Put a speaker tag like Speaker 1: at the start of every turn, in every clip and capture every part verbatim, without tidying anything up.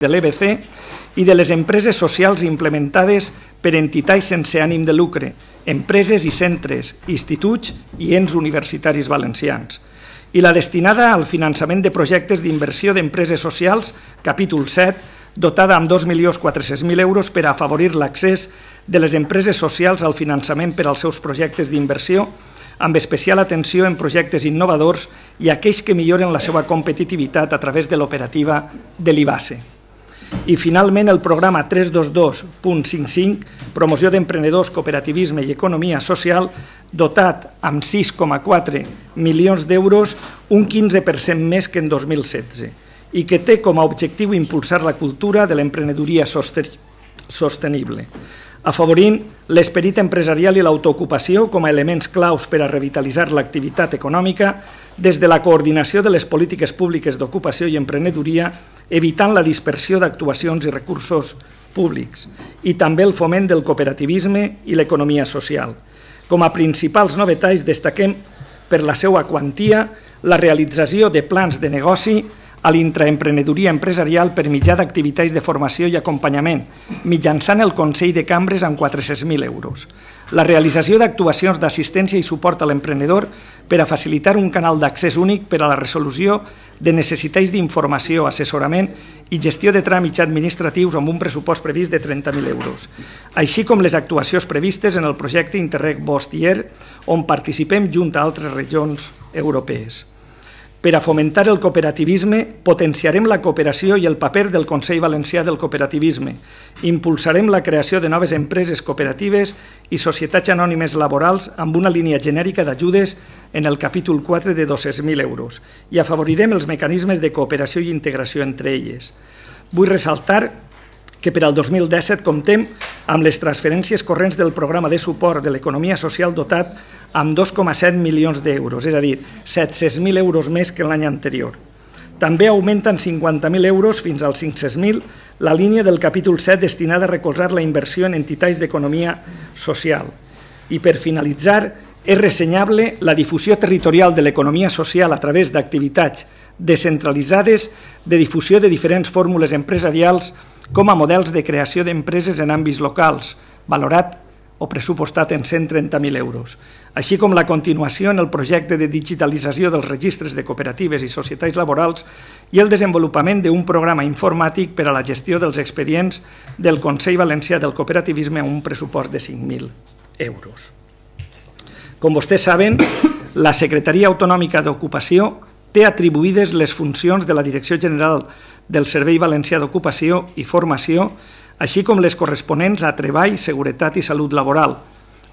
Speaker 1: de l'E B C i de les empreses socials implementades per entitats sense ànim de lucre, empreses i centres, instituts i ens universitaris valencians. I la destinada al finançament de projectes d'inversió d'empreses socials, capítol set, dotada amb dos milions quatre-cents mil euros per afavorir l'accés de les empreses socials al finançament per als seus projectes d'inversió, amb especial atenció en projectes innovadors i aquells que milloren la seva competitivitat a través de l'operativa de l'I B A S E. I finalment el programa tres cents vint-i-dos punt cinquanta-cinc, promoció d'emprenedors, cooperativisme i economia social, dotat amb sis coma quatre milions d'euros, un quinze per cent més que en dos mil setze, i que té com a objectiu impulsar la cultura de l'emprenedoria sostenible, afavorint l'esperit empresarial i l'autoocupació com a elements claus per a revitalitzar l'activitat econòmica des de la coordinació de les polítiques públiques d'ocupació i emprenedoria, evitant la dispersió d'actuacions i recursos públics, i també el foment del cooperativisme i l'economia social. Com a principals novetats destaquem per la seva quantia la realització de plans de negoci a l'intraemprenedoria empresarial per mitjà d'activitats de formació i acompanyament, mitjançant el Consell de Cambres amb quatre-cents mil euros. La realització d'actuacions d'assistència i suport a l'emprenedor per a facilitar un canal d'accés únic per a la resolució de necessitats d'informació, assessorament i gestió de tràmits administratius amb un pressupost previst de trenta mil euros, així com les actuacions previstes en el projecte Interreg Bostier, on participem junt a altres regions europees. Per a fomentar el cooperativisme, potenciarem la cooperació i el paper del Consell Valencià del Cooperativisme. Impulsarem la creació de noves empreses cooperatives i societats anònimes laborals amb una línia genèrica d'ajudes en el capítol quatre de dos-cents mil euros i afavorirem els mecanismes de cooperació i integració entre elles. Vull ressaltar que per al dos mil disset comptem amb les transferències corrents del programa de suport de l'economia social dotat amb dos coma set milions d'euros, és a dir, set-cents mil euros més que l'any anterior. També augmenten cinquanta mil euros fins als cinc-cents mil la línia del capítol set destinada a recolzar la inversió en entitats d'economia social. I per finalitzar, és ressenyable la difusió territorial de l'economia social a través d'activitats descentralitzades de difusió de diferents fórmules empresarials com a models de creació d'empreses en àmbits locals, valorat o pressupostat en cent trenta mil euros, així com la continuació en el projecte de digitalització dels registres de cooperatives i societats laborals i el desenvolupament d'un programa informàtic per a la gestió dels expedients del Consell Valencià del Cooperativisme amb un pressupost de cinc mil euros. Com vostès saben, la Secretaria Autonòmica d'Ocupació té atribuïdes les funcions de la Direcció General del Servei Valencià d'Ocupació i Formació, així com les corresponents a Treball, Seguretat i Salut Laboral,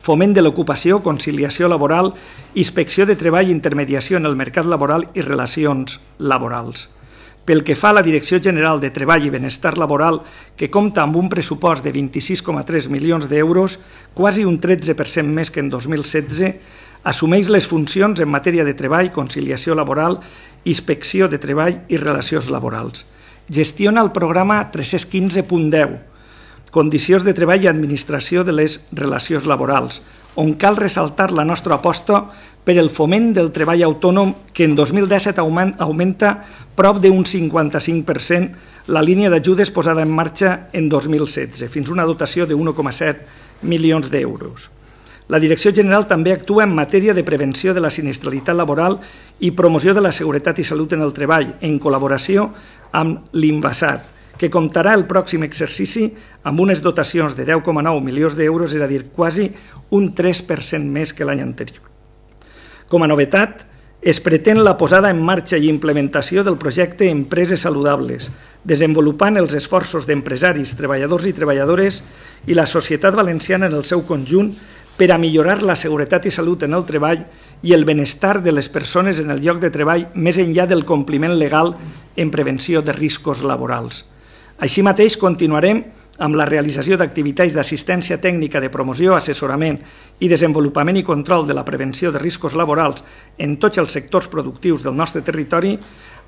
Speaker 1: foment de l'ocupació, conciliació laboral, inspecció de treball, intermediació en el mercat laboral i relacions laborals. Pel que fa a la Direcció General de Treball i Benestar Laboral, que compta amb un pressupost de vint-i-sis coma tres milions d'euros, quasi un tretze per cent més que en dos mil setze, assumeix les funcions en matèria de treball, conciliació laboral, inspecció de treball i relacions laborals. Gestiona el programa tres-cents quinze punt deu, Condicions de treball i administració de les relacions laborals, on cal ressaltar la nostra aposta per el foment del treball autònom que en dos mil disset augmenta prop d'un cinquanta-cinc per cent la línia d'ajudes posada en marxa en dos mil setze, fins a una dotació de un coma set milions d'euros. La Direcció General també actua en matèria de prevenció de la sinistralitat laboral i promoció de la seguretat i salut en el treball, en col·laboració amb l'INVASAT, que comptarà el pròxim exercici amb unes dotacions de deu coma nou milions d'euros, és a dir, quasi un tres per cent més que l'any anterior. Com a novetat, es pretén la posada en marxa i implementació del projecte Empreses Saludables, desenvolupant els esforços d'empresaris, treballadors i treballadores i la societat valenciana en el seu conjunt per a millorar la seguretat i salut en el treball i el benestar de les persones en el lloc de treball més enllà del compliment legal en prevenció de riscos laborals. Així mateix, continuarem amb la realització d'activitats d'assistència tècnica de promoció, assessorament i desenvolupament i control de la prevenció de riscos laborals en tots els sectors productius del nostre territori,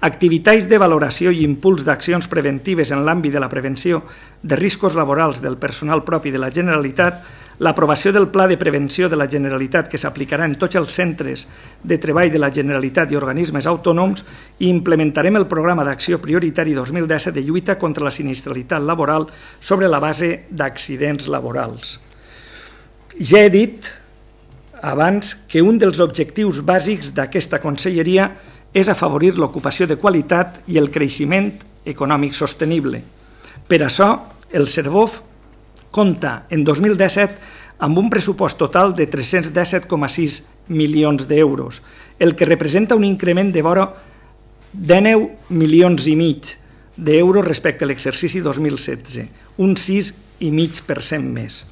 Speaker 1: activitats de valoració i impuls d'accions preventives en l'àmbit de la prevenció de riscos laborals del personal propi de la Generalitat, l'aprovació del Pla de Prevenció de la Generalitat que s'aplicarà en tots els centres de treball de la Generalitat i organismes autònoms i implementarem el programa d'acció prioritari dos mil disset de lluita contra la sinistralitat laboral sobre la base d'accidents laborals. Ja he dit abans que un dels objectius bàsics d'aquesta conselleria és afavorir l'ocupació de qualitat i el creixement econòmic sostenible. Per això, el CERVOF compta en dos mil disset amb un pressupost total de tres-cents disset coma sis milions d'euros, el que representa un increment de vora dinou milions i mig d'euros respecte a l'exercici dos mil setze, un sis coma cinc per cent més.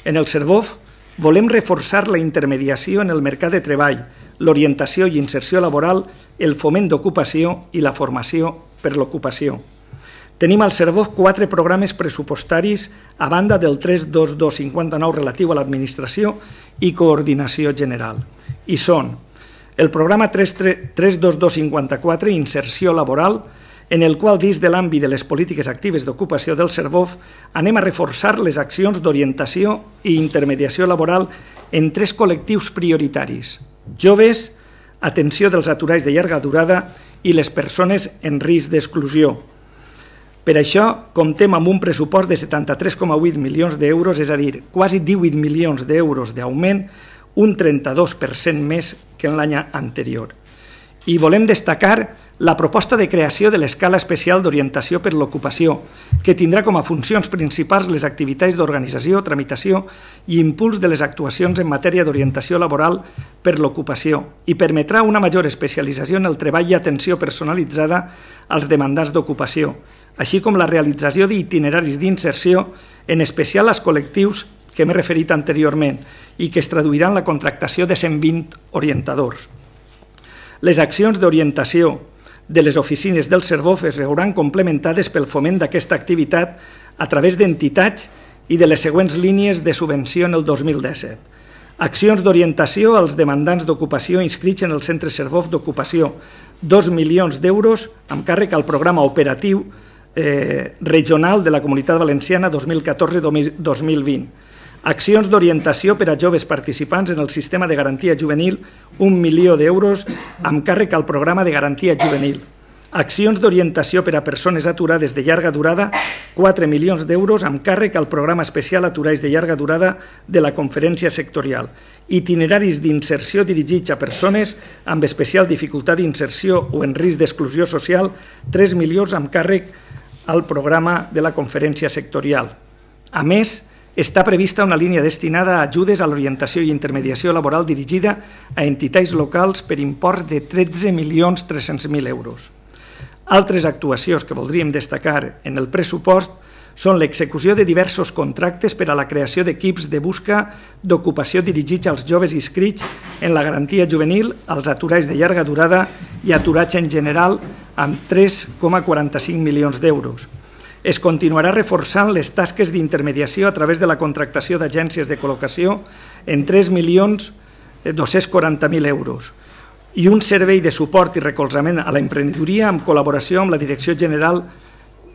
Speaker 1: En el CERVOF volem reforçar la intermediació en el mercat de treball, l'orientació i inserció laboral, el foment d'ocupació i la formació per l'ocupació. Tenim al CERVOF quatre programes pressupostaris a banda del tres mil dos-cents cinquanta-nou relatiu a l'administració i coordinació general. I són el programa tres mil dos-cents cinquanta-quatre, Inserció Laboral, en el qual, dins de l'àmbit de les polítiques actives d'ocupació del CERVOF, anem a reforçar les accions d'orientació i intermediació laboral en tres col·lectius prioritaris: joves, atenció dels aturats de llarga durada i les persones en risc d'exclusió. Per això, comptem amb un pressupost de setanta-tres coma vuit milions d'euros, és a dir, quasi divuit milions d'euros d'augment, un trenta-dos per cent més que en l'any anterior. I volem destacar la proposta de creació de l'escala especial d'orientació per l'ocupació, que tindrà com a funcions principals les activitats d'organització, tramitació i impuls de les actuacions en matèria d'orientació laboral per l'ocupació i permetrà una major especialització en el treball i atenció personalitzada als demandants d'ocupació, així com la realització d'itineraris d'inserció, en especial als col·lectius que m'he referit anteriorment i que es traduiran en la contractació de cent vint orientadors. Les accions d'orientació de les oficines del CERVOF es veuran complementades pel foment d'aquesta activitat a través d'entitats i de les següents línies de subvenció en el dos mil disset. Accions d'orientació als demandants d'ocupació inscrits en el Centre CERVOF d'Ocupació, dos milions d'euros amb càrrec al programa operatiu regional de la Comunitat Valenciana dos mil catorze dos mil vint. Accions d'orientació per a joves participants en el sistema de garantia juvenil, un milió d'euros amb càrrec al programa de garantia juvenil. Accions d'orientació per a persones aturades de llarga durada, quatre milions d'euros amb càrrec al programa especial Aturats de llarga durada de la Conferència Sectorial. Itineraris d'inserció dirigits a persones amb especial dificultat d'inserció o en risc d'exclusió social, tres milions amb càrrec al programa de la Conferència Sectorial. A més, està prevista una línia destinada a ajudes a l'orientació i intermediació laboral dirigida a entitats locals per import de tretze milions tres-cents mil euros. Altres actuacions que voldríem destacar en el pressupost són l'execució de diversos contractes per a la creació d'equips de busca d'ocupació dirigits als joves inscrits en la garantia juvenil, als aturats de llarga durada i aturats en general amb tres coma quaranta-cinc milions d'euros. Es continuarà reforçant les tasques d'intermediació a través de la contractació d'agències de col·locació en tres milions dos-cents quaranta mil euros i un servei de suport i recolzament a l'emprenedoria amb col·laboració amb la Direcció General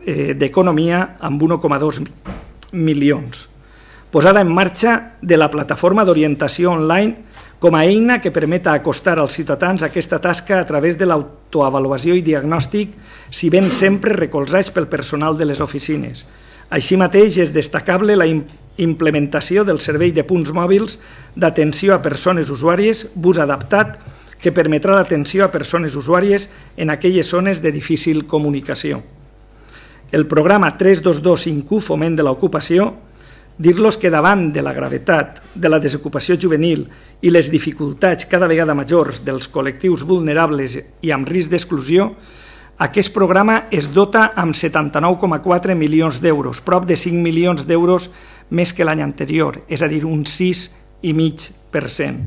Speaker 1: d'Economia amb un coma dos milions. Posada en marxa de la plataforma d'orientació online com a eina que permeta acostar als ciutadans aquesta tasca a través de l'autoavaluació i diagnòstic, si ben sempre recolzats pel personal de les oficines. Així mateix és destacable la implementació del servei de punts mòbils d'atenció a persones usuàries, bus adaptat, que permetrà l'atenció a persones usuàries en aquelles zones de difícil comunicació. El programa tres mil dos-cents vint-i-u, Foment de l'Ocupació, dir-los que davant de la gravetat de la desocupació juvenil i les dificultats cada vegada majors dels col·lectius vulnerables i amb risc d'exclusió, aquest programa es dota amb setanta-nou coma quatre milions d'euros, prop de cinc milions d'euros més que l'any anterior, és a dir, un sis coma cinc per cent.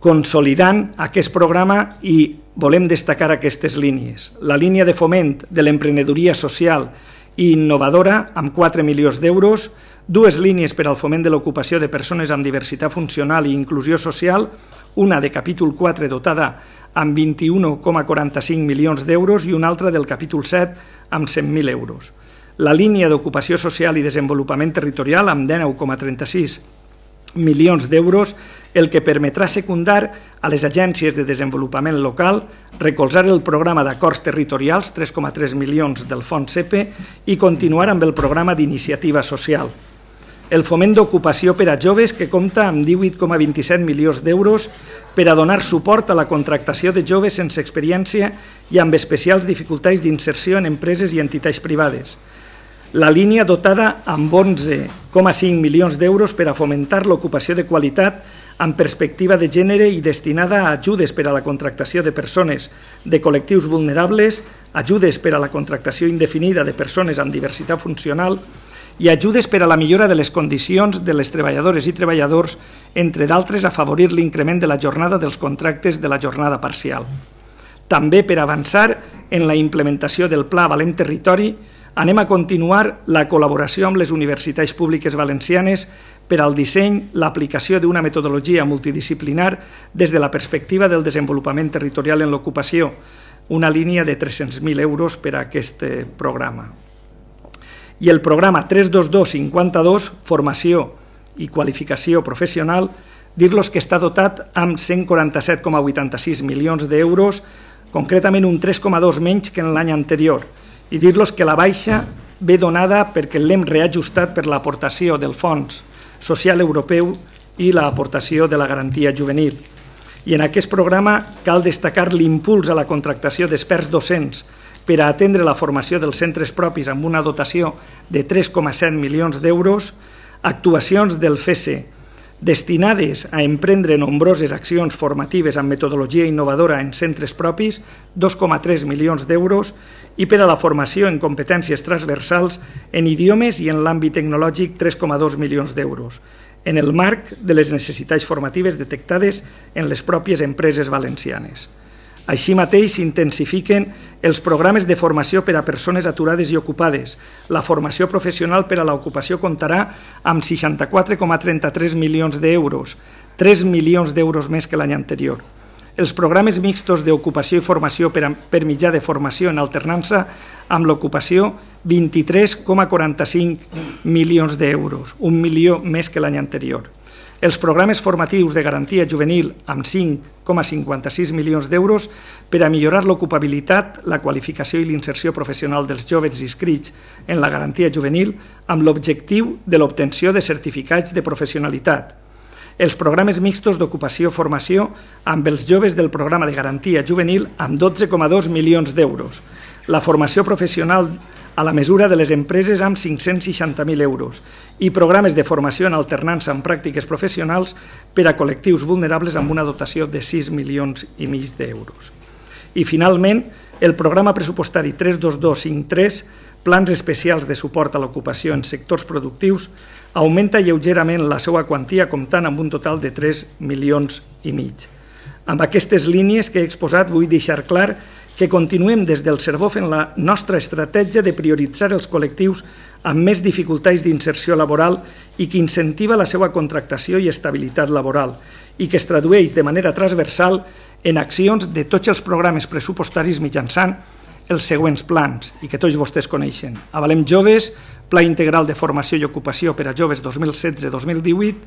Speaker 1: Consolidant aquest programa i volem destacar aquestes línies. La línia de foment de l'emprenedoria social i innovadora amb quatre milions d'euros, dues línies per al foment de l'ocupació de persones amb diversitat funcional i inclusió social, una de capítol quatre dotada amb vint-i-un coma quaranta-cinc milions d'euros i una altra del capítol set amb cent mil euros. la línia d'ocupació social i desenvolupament territorial amb dinou coma trenta-sis milions d'euros, el que permetrà secundar a les agències de desenvolupament local, recolzar el programa d'acords territorials, tres coma tres milions del fons C E P E, i continuar amb el programa d'iniciativa social. El foment d'ocupació per a joves, que compta amb divuit coma vint-i-set milions d'euros per a donar suport a la contractació de joves sense experiència i amb especials dificultats d'inserció en empreses i entitats privades. La línia dotada amb onze coma cinc milions d'euros per a fomentar l'ocupació de qualitat amb perspectiva de gènere i destinada a ajudes per a la contractació de persones de col·lectius vulnerables, ajudes per a la contractació indefinida de persones amb diversitat funcional i ajudes per a la millora de les condicions de les treballadores i treballadors, entre d'altres afavorir l'increment de la jornada dels contractes de la jornada parcial. També per avançar en la implementació del Pla Valem Territori, anem a continuar la col·laboració amb les universitats públiques valencianes per al disseny, l'aplicació d'una metodologia multidisciplinar des de la perspectiva del desenvolupament territorial en l'ocupació, una línia de tres-cents mil euros per a aquest programa. I el programa tres dos dos cinquanta-dos, Formació i Qualificació Professional, dir-los que està dotat amb cent quaranta-set coma vuitanta-sis milions d'euros, concretament un tres coma dos menys que en l'any anterior, i dir-los que la baixa ve donada perquè l'hem reajustat per l'aportació del Fons Social Europeu i l'aportació de la garantia juvenil. I en aquest programa cal destacar l'impuls a la contractació d'experts docents per a atendre la formació dels centres propis amb una dotació de tres coma set milions d'euros, actuacions del F E S E destinades a emprendre nombroses accions formatives amb metodologia innovadora en centres propis, dos coma tres milions d'euros, i per a la formació en competències transversals en idiomes i en l'àmbit tecnològic, tres coma dos milions d'euros, en el marc de les necessitats formatives detectades en les pròpies empreses valencianes. Així mateix s'intensifiquen els programes de formació per a persones aturades i ocupades. La formació professional per a l'ocupació comptarà amb seixanta-quatre coma trenta-tres milions d'euros, tres milions d'euros més que l'any anterior. Els programes mixtos d'ocupació i formació per, a, per mitjà de formació en alternança amb l'ocupació, vint-i-tres coma quaranta-cinc milions d'euros, un milió més que l'any anterior. Els programes formatius de garantia juvenil amb cinc coma cinquanta-sis milions d'euros per a millorar l'ocupabilitat, la qualificació i l'inserció professional dels joves inscrits en la garantia juvenil amb l'objectiu de l'obtenció de certificats de professionalitat. Els programes mixtos d'ocupació-formació amb els joves del programa de garantia juvenil amb dotze coma dos milions d'euros. La formació professional a la mesura de les empreses amb cinc-cents seixanta mil euros i programes de formació en alternança amb pràctiques professionals per a col·lectius vulnerables amb una dotació de sis milions i mig d'euros. I finalment, el programa pressupostari tres dos dos cinquanta-tres, plans especials de suport a l'ocupació en sectors productius, augmenta lleugerament la seva quantia comptant amb un total de tres milions i mig. Amb aquestes línies que he exposat vull deixar clar que continuem des del Servof en la nostra estratègia de prioritzar els col·lectius amb més dificultats d'inserció laboral i que incentiva la seva contractació i estabilitat laboral i que es tradueix de manera transversal en accions de tots els programes pressupostaris mitjançant els següents plans i que tots vostès coneixen. Avalem Joves, Pla Integral de Formació i Ocupació per a Joves dos mil setze dos mil divuit,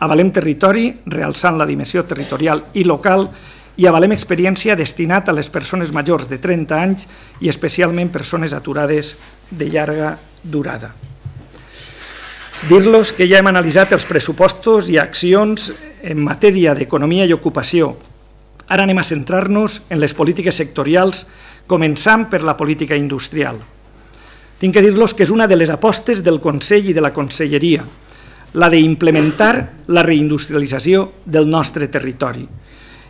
Speaker 1: Avalem Territori, realçant la dimensió territorial i local, i Avalem Experiència, destinat a les persones majors de trenta anys i especialment persones aturades de llarga durada. Dir-los que ja hem analitzat els pressupostos i accions en matèria d'economia i ocupació. Ara anem a centrar-nos en les polítiques sectorials, començant per la política industrial. Tinc que dir-los que és una de les apostes del Consell i de la Conselleria, la d'implementar la reindustrialització del nostre territori.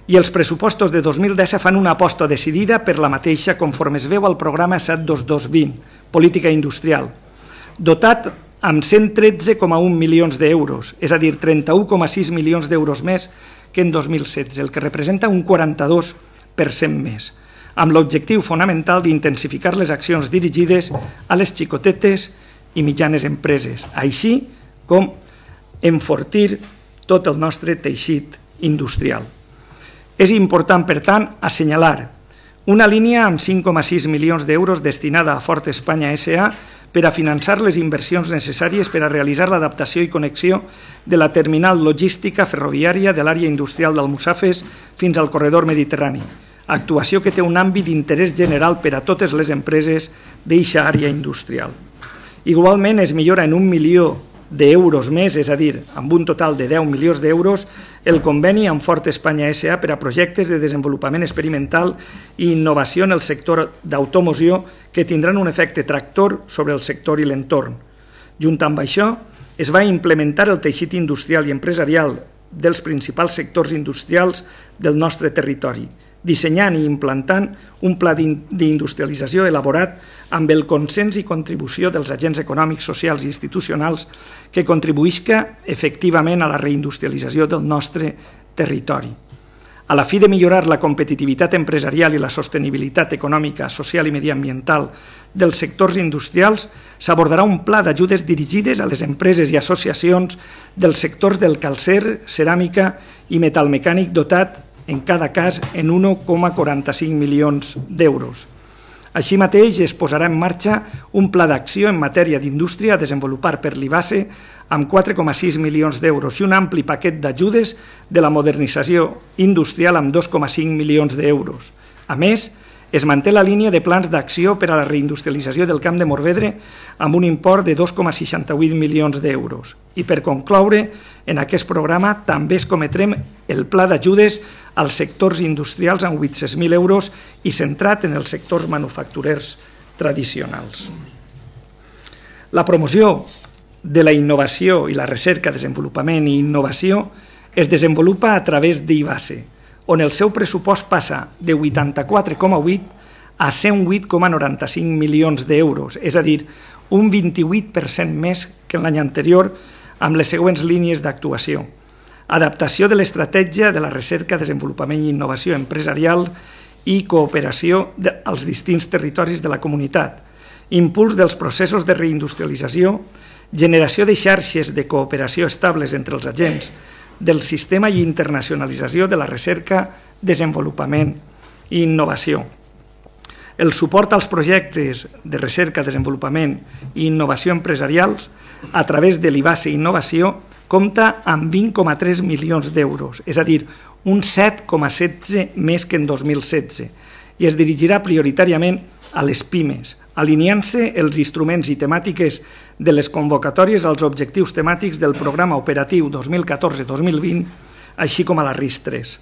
Speaker 1: I els pressupostos de dos mil disset fan una aposta decidida per la mateixa conforme es veu al programa set dos dos vint, Política Industrial, dotat amb cent tretze coma un milions d'euros, és a dir, trenta-u coma sis milions d'euros més que en dos mil setze, el que representa un quaranta-dos per cent més, amb l'objectiu fonamental d'intensificar les accions dirigides a les xicotetes i mitjanes empreses, així com enfortir tot el nostre teixit industrial. És important, per tant, assenyalar una línia amb cinc coma sis milions d'euros destinada a Ford Espanya S A per a finançar les inversions necessàries per a realitzar l'adaptació i connexió de la terminal logística ferroviària de l'àrea industrial d'Almussafes fins al corredor mediterrani, actuació que té un àmbit d'interès general per a totes les empreses d'eixa àrea industrial. Igualment, es millora en un milió d'euros més, és a dir, amb un total de deu milions d'euros, el conveni amb Ford Espanya S A per a projectes de desenvolupament experimental i innovació en el sector d'automoció que tindran un efecte tractor sobre el sector i l'entorn. Junt amb això, es va implementar el teixit industrial i empresarial dels principals sectors industrials del nostre territori, dissenyant i implantant un pla d'industrialització elaborat amb el consens i contribució dels agents econòmics, socials i institucionals que contribuïsca efectivament a la reindustrialització del nostre territori. A la fi de millorar la competitivitat empresarial i la sostenibilitat econòmica, social i mediambiental dels sectors industrials, s'abordarà un pla d'ajudes dirigides a les empreses i associacions dels sectors del calcer, ceràmica i metalmecànic dotat en cada cas en un coma quaranta-cinc milions d'euros. Així mateix, es posarà en marxa un pla d'acció en matèria d'indústria a desenvolupar per l'I B A S E amb quatre coma sis milions d'euros i un ampli paquet d'ajudes de la modernització industrial amb dos coma cinc milions d'euros. A més, es manté la línia de plans d'acció per a la reindustrialització del Camp de Morvedre amb un import de dos coma seixanta-vuit milions d'euros. I per concloure, en aquest programa també es cometrem el pla d'ajudes als sectors industrials amb vuit-cents mil euros i centrat en els sectors manufacturers tradicionals. La promoció de la innovació i la recerca, desenvolupament i innovació es desenvolupa a través d'I B A S E, on el seu pressupost passa de vuitanta-quatre coma vuit a cent vuit coma noranta-cinc milions d'euros, és a dir, un vint-i-vuit per cent més que l'any anterior amb les següents línies d'actuació. Adaptació de l'estratègia de la recerca, desenvolupament i innovació empresarial i cooperació als distints territoris de la comunitat, impuls dels processos de reindustrialització, generació de xarxes de cooperació estables entre els agents del sistema i internacionalització de la recerca, desenvolupament i innovació. El suport als projectes de recerca, desenvolupament i innovació empresarials a través de l'I B A S E Innovació compta amb vint coma tres milions d'euros, és a dir, un set coma setze més que en dos mil setze, i es dirigirà prioritàriament a les pimes, alineant-se els instruments i temàtiques de les convocatòries als objectius temàtics del programa operatiu dos mil catorze dos mil vint, així com a la RIS tres.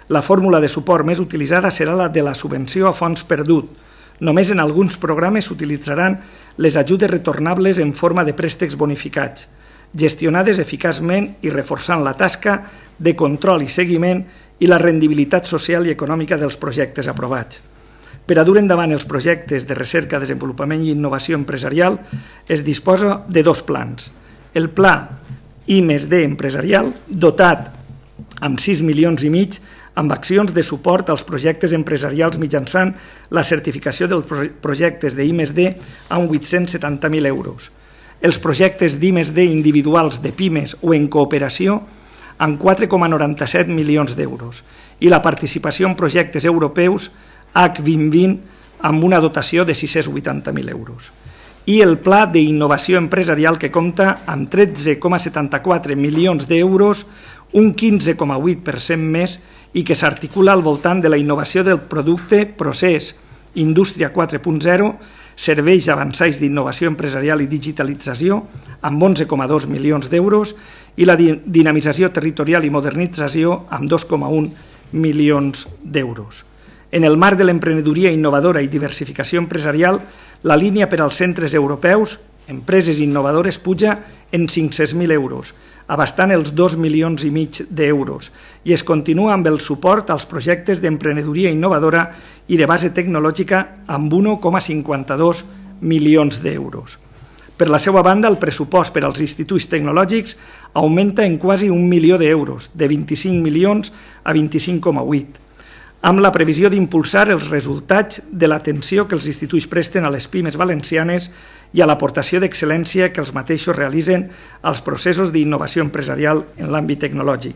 Speaker 1: La fórmula de suport més utilitzada serà la de la subvenció a fons perdut. Només en alguns programes s'utilitzaran les ajudes retornables en forma de préstecs bonificats, gestionades eficaçment i reforçant la tasca de control i seguiment i la rendibilitat social i econòmica dels projectes aprovats. Per a dur endavant els projectes de recerca, desenvolupament i innovació empresarial es disposa de dos plans. El pla I més D empresarial, dotat amb sis milions i mig, amb accions de suport als projectes empresarials mitjançant la certificació dels projectes d'I més D amb vuit-cents setanta mil euros. Els projectes d'I més D individuals de pimes o en cooperació amb quatre coma noranta-set milions d'euros i la participació en projectes europeus H vint vint amb una dotació de sis-cents vuitanta mil euros. I el pla d'innovació empresarial que compta amb tretze coma setanta-quatre milions d'euros, un quinze coma vuit per cent més i que s'articula al voltant de la innovació del producte, procés, indústria quatre punt zero, serveis avançats d'innovació empresarial i digitalització amb onze coma dos milions d'euros i la dinamització territorial i modernització amb dos coma un milions d'euros. En el marc de l'emprenedoria innovadora i diversificació empresarial, la línia per als centres europeus, empreses innovadores, puja en cinc-cents mil euros, abastant els dos milions i mig d'euros, i es continua amb el suport als projectes d'emprenedoria innovadora i de base tecnològica amb un coma cinquanta-dos milions d'euros. Per la seva banda, el pressupost per als instituts tecnològics augmenta en quasi un milió d'euros, de vint-i-cinc milions a vint-i-cinc coma vuit, amb la previsió d'impulsar els resultats de l'atenció que els instituts presten a les pimes valencianes i a l'aportació d'excel·lència que els mateixos realitzen als processos d'innovació empresarial en l'àmbit tecnològic.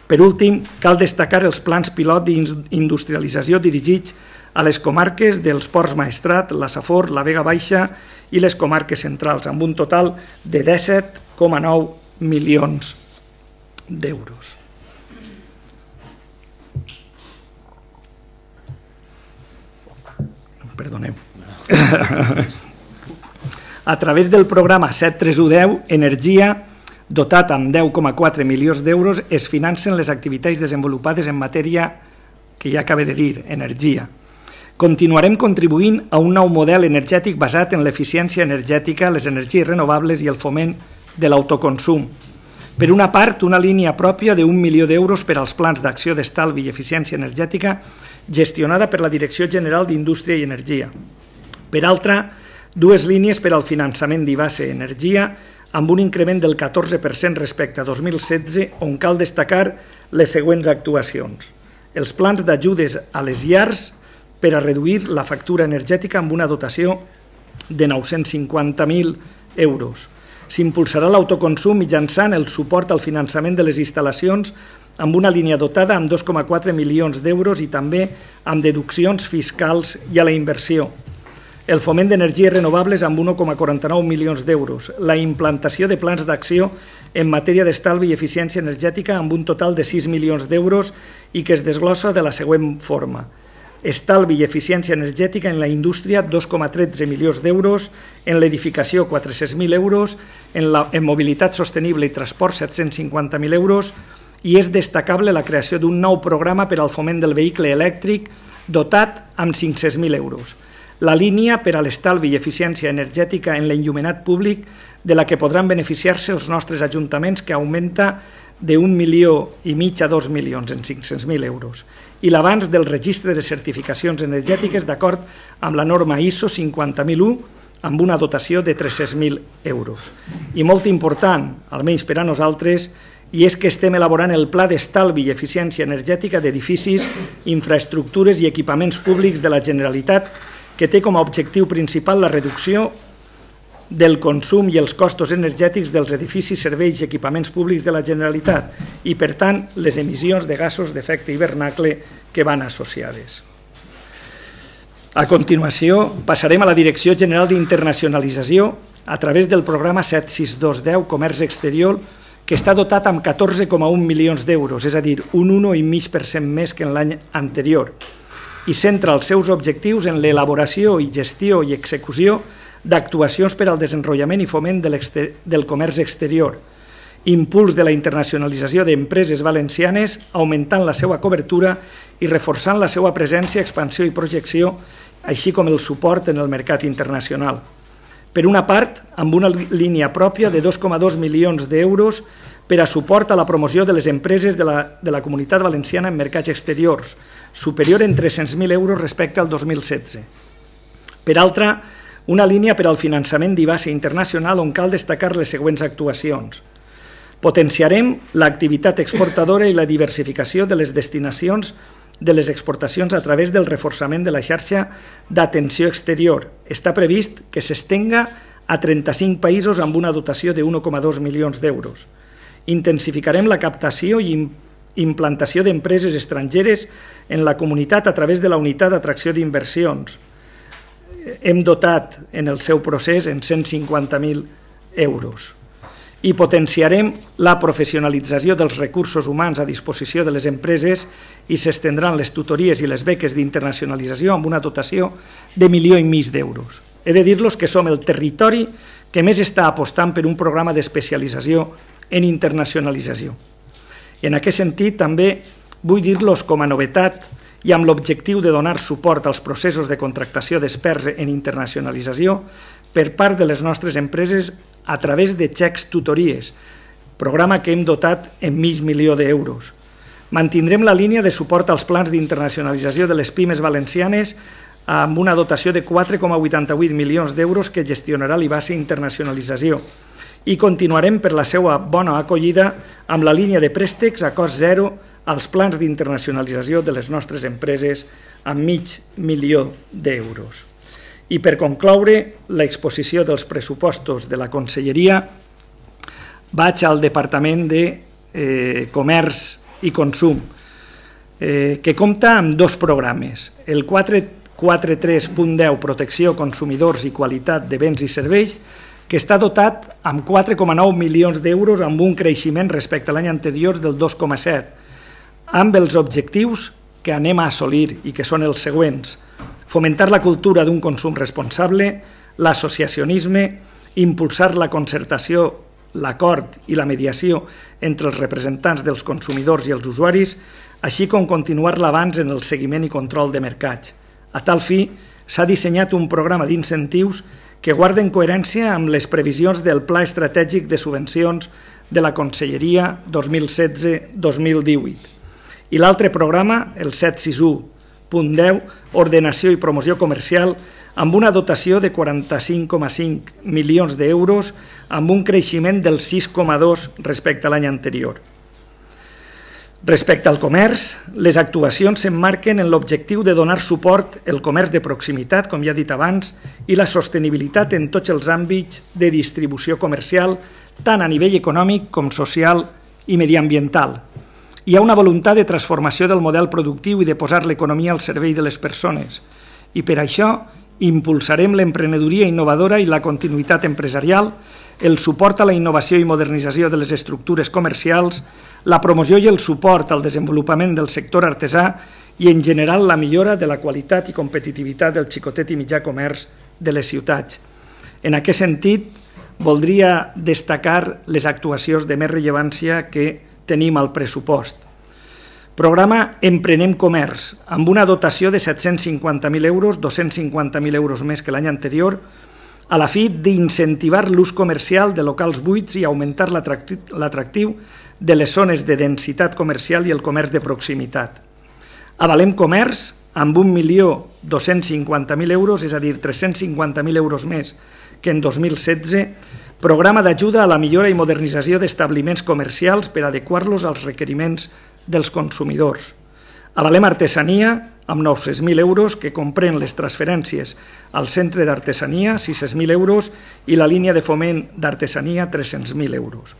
Speaker 1: Per últim, cal destacar els plans pilot d'industrialització dirigits a les comarques dels Ports Maestrat, la Safor, la Vega Baixa i les comarques centrals, amb un total de disset coma nou milions d'euros. Perdoneu. A través del programa set tres u deu, Energia, dotat amb deu coma quatre milions d'euros, es financen les activitats desenvolupades en matèria que ja acabé de dir, energia. Continuarem contribuint a un nou model energètic basat en l'eficiència energètica, les energies renovables i el foment de l'autoconsum. Per una part, una línia pròpia d'un milió d'euros per als plans d'acció d'estalvi i eficiència energètica gestionada per la Direcció General d'Indústria i Energia. Per altra, dues línies per al finançament d'I B A S E Energia amb un increment del catorze per cent respecte a dos mil setze, on cal destacar les següents actuacions. Els plans d'ajudes a les llars per a reduir la factura energètica amb una dotació de nou-cents cinquanta mil euros. S'impulsarà l'autoconsum mitjançant el suport al finançament de les instal·lacions amb una línia dotada amb dos coma quatre milions d'euros i també amb deduccions fiscals i a la inversió. El foment d'energies renovables amb un coma quaranta-nou milions d'euros. La implantació de plans d'acció en matèria d'estalvi i eficiència energètica amb un total de sis milions d'euros i que es desglossa de la següent forma. Estalvi i eficiència energètica en la indústria, dos coma tretze milions d'euros, en l'edificació, quatre-cents mil euros, en, la, en mobilitat sostenible i transport, set-cents cinquanta mil euros, i és destacable la creació d'un nou programa per al foment del vehicle elèctric dotat amb cinc-cents mil euros. La línia per a l'estalvi i eficiència energètica en l'enllumenat públic de la que podran beneficiar-se els nostres ajuntaments, que augmenta d'un milió i mig a dos milions en cinc-cents mil euros, i l'avanç del registre de certificacions energètiques d'acord amb la norma I S O cinquanta mil u amb una dotació de tres-cents mil euros. I molt important, almenys per a nosaltres, i és que estem elaborant el Pla d'Estalvi i Eficiència Energètica d'edificis, infraestructures i equipaments públics de la Generalitat, que té com a objectiu principal la reducció del consum i els costos energètics dels edificis, serveis i equipaments públics de la Generalitat i, per tant, les emissions de gasos d'efecte hivernacle que van associades. A continuació, passarem a la Direcció General d'Internacionalització a través del programa set sis dos deu Comerç Exterior, que està dotat amb catorze coma un milions d'euros, és a dir, un un coma cinc per cent més que en l'any anterior, i centra els seus objectius en l'elaboració i gestió i execució d'actuacions per al desenvolupament i foment del comerç exterior, impuls de la internacionalització d'empreses valencianes, augmentant la seva cobertura i reforçant la seva presència, expansió i projecció, així com el suport en el mercat internacional. Per una part, amb una línia pròpia de dos coma dos milions d'euros per a suport a la promoció de les empreses de la, de la Comunitat Valenciana en mercats exteriors, superior en tres-cents mil euros respecte al dos mil setze. Per altra, una línia per al finançament d'I B A S E internacional on cal destacar les següents actuacions. Potenciarem l'activitat exportadora i la diversificació de les destinacions de les exportacions a través del reforçament de la xarxa d'atenció exterior. Està previst que s'estenga a trenta-cinc països amb una dotació de un coma dos milions d'euros. Intensificarem la captació i implantació d'empreses estrangeres en la comunitat a través de la unitat d'atracció d'inversions. Hem dotat en el seu procés en cent cinquanta mil euros. I potenciarem la professionalització dels recursos humans a disposició de les empreses i s'estendran les tutories i les beques d'internacionalització amb una dotació de milió i mig d'euros. He de dir-los que som el territori que més està apostant per un programa d'especialització en internacionalització. I en aquest sentit també vull dir-los com a novetat i amb l'objectiu de donar suport als processos de contractació d'experts en internacionalització per part de les nostres empreses a través de xecs tutories, programa que hem dotat en mig milió d'euros. Mantindrem la línia de suport als plans d'internacionalització de les pimes valencianes amb una dotació de quatre coma vuitanta-vuit milions d'euros que gestionarà l'I B A S E Internacionalització i continuarem per la seva bona acollida amb la línia de préstecs a cost zero als plans d'internacionalització de les nostres empreses amb mig milió d'euros. I per concloure l'exposició dels pressupostos de la Conselleria, vaig al Departament de eh, Comerç i Consum, eh, que compta amb dos programes, el quatre quaranta-tres punt deu protecció, consumidors i qualitat de béns i serveis, que està dotat amb quatre coma nou milions d'euros amb un creixement respecte a l'any anterior del dos coma set, amb els objectius que anem a assolir i que són els següents: fomentar la cultura d'un consum responsable, l'associacionisme, impulsar la concertació, l'acord i la mediació entre els representants dels consumidors i els usuaris, així com continuar l'avanç en el seguiment i control de mercats. A tal fi, s'ha dissenyat un programa d'incentius que guarden coherència amb les previsions del Pla Estratègic de Subvencions de la Conselleria dos mil setze dos mil divuit. I l'altre programa, el set cents seixanta u punt deu, Ordenació i Promoció Comercial, amb una dotació de quaranta-cinc coma cinc milions d'euros, amb un creixement del sis coma dos respecte a l'any anterior. Respecte al comerç, les actuacions s'emmarquen en l'objectiu de donar suport al comerç de proximitat, com ja he dit abans, i la sostenibilitat en tots els àmbits de distribució comercial, tant a nivell econòmic com social i mediambiental. Hi ha una voluntat de transformació del model productiu i de posar l'economia al servei de les persones, i per això impulsarem l'emprenedoria innovadora i la continuïtat empresarial, el suport a la innovació i modernització de les estructures comercials, la promoció i el suport al desenvolupament del sector artesà i, en general, la millora de la qualitat i competitivitat del xicotet i mitjà comerç de les ciutats. En aquest sentit, voldria destacar les actuacions de més rellevància que tenim al pressupost. Programa Emprenem Comerç, amb una dotació de set-cents cinquanta mil euros, dos-cents cinquanta mil euros més que l'any anterior, a la fi d'incentivar l'ús comercial de locals buits i augmentar l'atractiu de les zones de densitat comercial i el comerç de proximitat. Avalem Comerç, amb un milió dos-cents cinquanta mil euros, és a dir, tres-cents cinquanta mil euros més que en dos mil setze, programa d'ajuda a la millora i modernització d'establiments comercials per adequar-los als requeriments dels consumidors. Avalem Artesania, amb nou-cents mil euros, que comprèn les transferències al Centre d'Artesania, sis-cents mil euros, i la línia de foment d'artesania, tres-cents mil euros.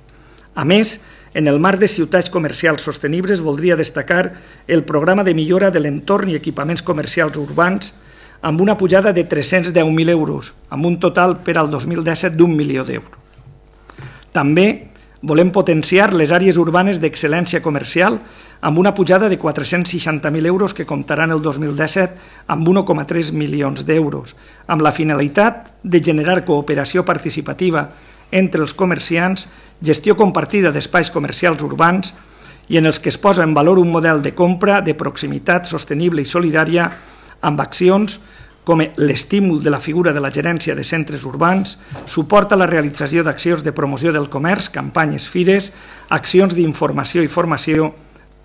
Speaker 1: A més, en el marc de ciutats comercials sostenibles, voldria destacar el programa de millora de l'entorn i equipaments comercials urbans, amb una pujada de tres-cents deu mil euros, amb un total per al dos mil disset d'un milió d'euros. També volem potenciar les àrees urbanes d'excel·lència comercial amb una pujada de quatre-cents seixanta mil euros que comptaran el dos mil disset amb un coma tres milions d'euros, amb la finalitat de generar cooperació participativa entre els comerciants, gestió compartida d'espais comercials urbans i en els que es posa en valor un model de compra de proximitat sostenible i solidària amb accions com l'estímul de la figura de la gerència de centres urbans, suport a la realització d'accions de promoció del comerç, campanyes, fires, accions d'informació i formació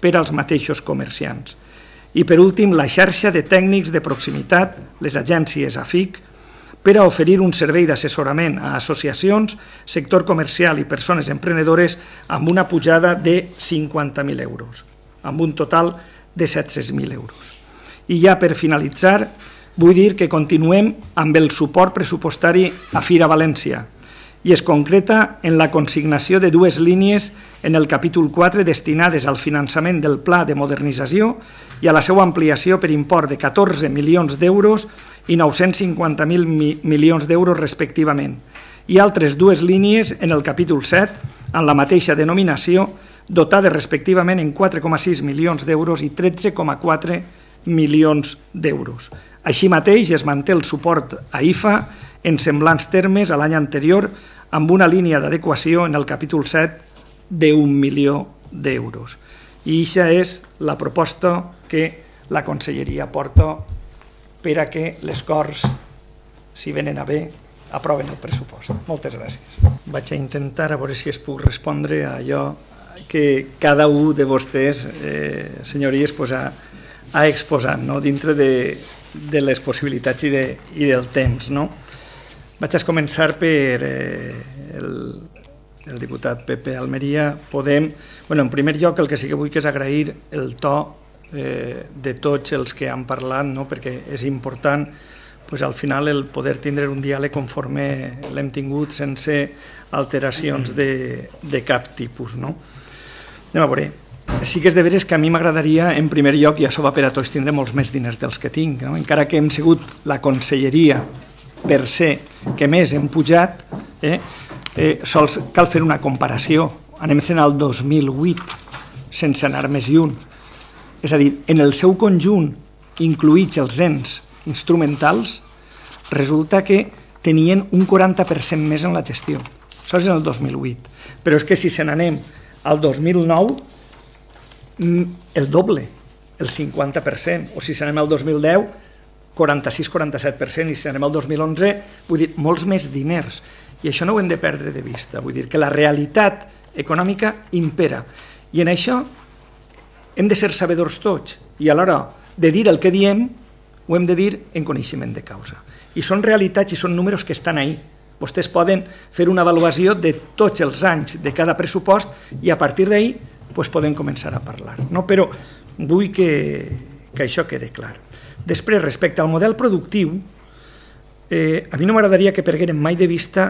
Speaker 1: per als mateixos comerciants. I, per últim, la xarxa de tècnics de proximitat, les agències A F I C, per a oferir un servei d'assessorament a associacions, sector comercial i persones emprenedores amb una pujada de cinquanta mil euros, amb un total de set-cents mil euros. I ja per finalitzar, vull dir que continuem amb el suport pressupostari a Fira València i es concreta en la consignació de dues línies en el capítol quatre destinades al finançament del Pla de Modernització i a la seva ampliació per import de catorze milions d'euros i nou-cents cinquanta mil milions d'euros respectivament, i altres dues línies en el capítol set, en la mateixa denominació, dotades respectivament en quatre coma sis milions d'euros i tretze coma quatre milions d'euros. Així mateix es manté el suport a I F A en semblants termes a l'any anterior amb una línia d'adequació en el capítol set d'un milió d'euros. I aquesta és la proposta que la Conselleria porta per a que les Corts, si venen a bé, aproven el pressupost. Moltes gràcies. Vaig a intentar a veure si es puc respondre a allò que cada un de vostès, eh, senyories, pues, ha, ha exposat, no? Dintre de, de les possibilitats i, de, i del temps. No? Vaig a començar per eh, el, el diputat Pepe Almeria. Podem, bueno, en primer lloc, el que sí que vull que és agrair el to eh, de tots els que han parlat, no? Perquè és important pues, al final el poder tindre un diàleg conforme l'hem tingut sense alteracions de, de cap tipus. No? Anem a veure. sí que és de veres que a mi m'agradaria, en primer lloc, i això va per a tots, tindre molts més diners dels que tinc, no? Encara que hem sigut la conselleria per ser que més hem pujat, eh, eh, sols cal fer una comparació. Anem sent al dos mil vuit, sense anar més lluny. És a dir, en el seu conjunt, incluïts els ens instrumentals, resulta que tenien un quaranta per cent més en la gestió. Això és en el dos mil vuit. Però és que si se n'anem al dos mil nou, el doble, el cinquanta per cent. O si se n'anem al dos mil deu, quaranta-sis quaranta-set per cent. I si anem al dos mil onze, vull dir, molts més diners. I això no ho hem de perdre de vista. Vull dir que la realitat econòmica impera. I en això hem de ser sabedors tots. I a l'hora de dir el que diem, ho hem de dir en coneixement de causa. I són realitats i són números que estan ahí. Vostès poden fer una avaluació de tots els anys de cada pressupost i a partir d'ahí pues, podem començar a parlar. No? Però vull que, que això quede clar. Després, respecte al model productiu, eh, a mi no m'agradaria que perguérem mai de vista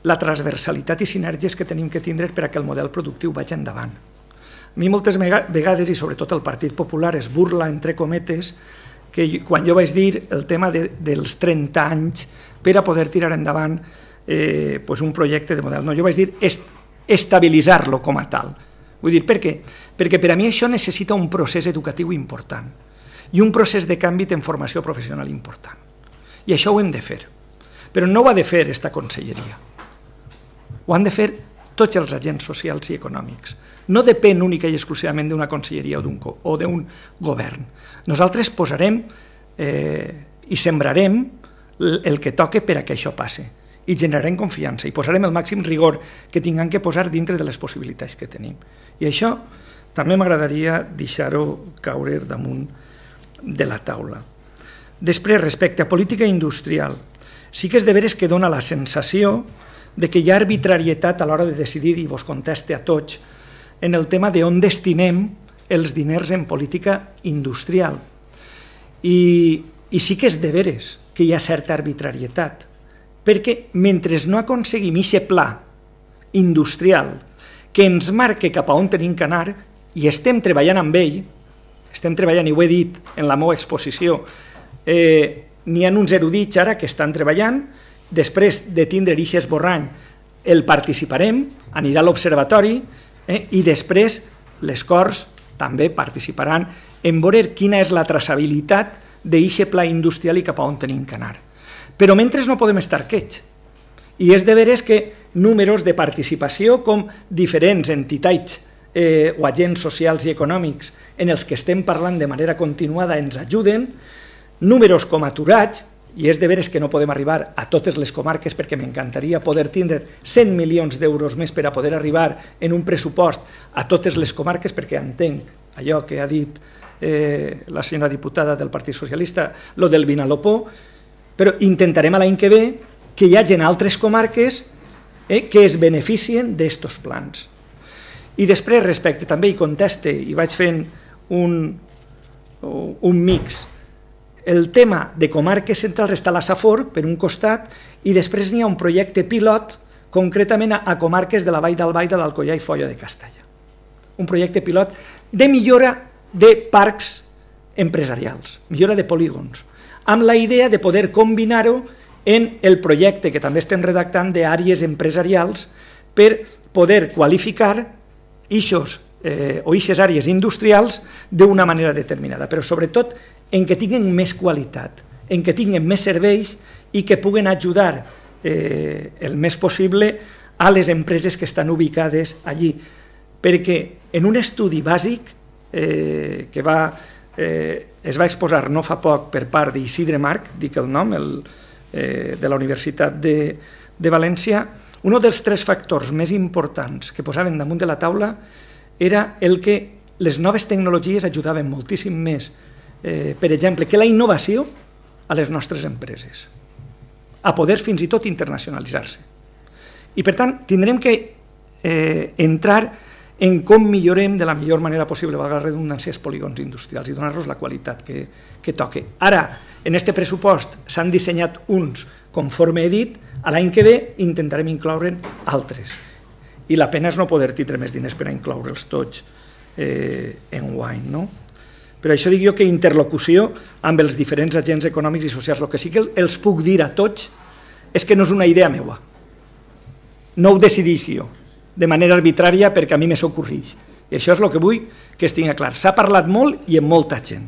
Speaker 1: la transversalitat i sinergies que tenim que tindre per a que el model productiu vagi endavant. A mi moltes vegades, i sobretot el Partit Popular, es burla, entre cometes, que quan jo vaig dir el tema de, dels trenta anys per a poder tirar endavant eh, pues un projecte de model. No, jo vaig dir est estabilitzar-lo com a tal. Vull dir, per què? Perquè per a mi això necessita un procés educatiu important i un procés de canvi en formació professional important. I això ho hem de fer. Però no ho ha de fer esta conselleria. Ho han de fer tots els agents socials i econòmics. No depèn única i exclusivament d'una conselleria o d'un govern. Nosaltres posarem eh, i sembrarem el que toque per a que això passi i generarem confiança i posarem el màxim rigor que tinguem que posar dintre de les possibilitats que tenim. I això també m'agradaria deixar-ho caure damunt de la taula. Després, respecte a política industrial, sí que és de veres que dona la sensació de que hi ha arbitrarietat a l'hora de decidir, i vos conteste a tots, en el tema d'on destinem els diners en política industrial. I, i sí que és de veres que hi ha certa arbitrarietat, perquè mentre no aconseguim aquest pla industrial que ens marque cap a on tenim que anar, i estem treballant amb ell, estem treballant, i ho he dit en la meva exposició, eh, n'hi ha uns erudits ara que estan treballant, després de tindre aquest esborrany el participarem, anirà a l'observatori, eh, i després les Corts també participaran en veure quina és la traçabilitat d'aquest pla industrial i cap a on tenim que anar. Però mentre no podem estar quiets. I és de veres que números de participació com diferents entitats eh, o agents socials i econòmics en els que estem parlant de manera continuada ens ajuden, números com aturats, i és de veres que no podem arribar a totes les comarques perquè m'encantaria poder tindre cent milions d'euros més per a poder arribar en un pressupost a totes les comarques, perquè entenc allò que ha dit eh, la senyora diputada del Partit Socialista, lo del Vinalopó, però intentarem l'any que ve que hi hagi altres comarques eh, que es beneficien d'estos plans. I després, respecte també, i conteste, i vaig fent un, un mix. El tema de comarques centrals està a la Safor, per un costat, i després n'hi ha un projecte pilot, concretament a comarques de la Vall d'Albaida, l'Alcoià i Foia de Castalla. Un projecte pilot de millora de parcs empresarials, millora de polígons, amb la idea de poder combinar-ho en el projecte que també estem redactant d'àrees empresarials per poder qualificar eixos eh, o eixes àrees industrials d'una manera determinada, però sobretot en què tinguen més qualitat, en què tinguen més serveis i que puguen ajudar eh, el més possible a les empreses que estan ubicades allí. Perquè en un estudi bàsic eh, que va, eh, es va exposar no fa poc per part d'Isidre Marc, dic el nom, el, eh, de la Universitat de, de València, un dels tres factors més importants que posaven damunt de la taula era el que les noves tecnologies ajudaven moltíssim més, eh, per exemple, que la innovació a les nostres empreses, a poder fins i tot internacionalitzar-se. I per tant, tindrem que eh, entrar en com millorem de la millor manera possible, valga la redundància, els polígons industrials i donar-los la qualitat que, que toque. Ara, en aquest pressupost s'han dissenyat uns, conforme he dit, a l'any que ve intentarem incloure'n altres. I la pena és no poder tindre més diners per a incloure'ls tots enguany, no? Per això dic jo que interlocució amb els diferents agents econòmics i socials. El que sí que els puc dir a tots és que no és una idea meua. No ho decideix jo, de manera arbitrària, perquè a mi me s'ocorreix. I això és el que vull que es tingui clar. S'ha parlat molt i amb molta gent.